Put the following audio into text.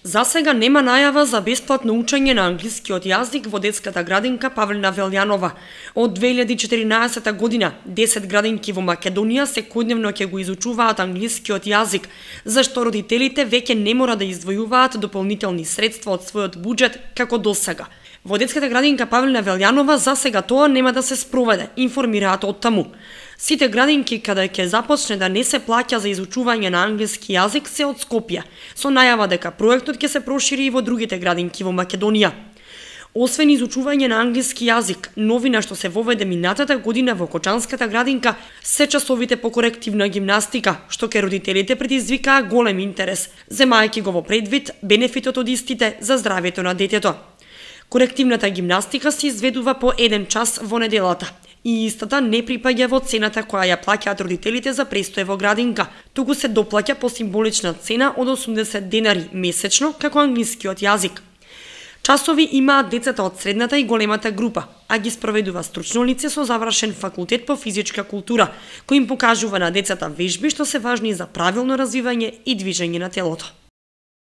За сега нема најава за бесплатно учење на англискиот јазик во детската градинка Павлина Велјанова. Од 2014 година 10 градинки во Македонија секојдневно ќе го изучуваат англискиот јазик, зашто родителите веќе не мора да издвојуваат дополнителни средства од својот буџет како досега. Во детската градинка Павлина Велјанова за сега тоа нема да се спроведе, информираат од таму. Сите градинки каде ќе започне да не се плаќа за изучување на англиски јазик се од Скопје, со најава дека проектот ќе се прошири и во другите градинки во Македонија. Освен изучување на англиски јазик, новина што се воведе минатата година во Кочанската градинка се часовите по корективна гимнастика, што ке родителите предизвикаа голем интерес, земајќи го во предвид бенефитот од истите за здравјето на детето. Корективната гимнастика се изведува по 1 час во неделата и истата не припаѓа во цената која ја плаќаат родителите за престој во градинка, туку се доплаќа по символична цена од 80 денари месечно како англискиот јазик. Часови имаат децата од средната и големата група, а ги спроведува стручно лице со завршен факултет по физичка култура, кој им покажува на децата вежби што се важни за правилно развивање и движење на телото.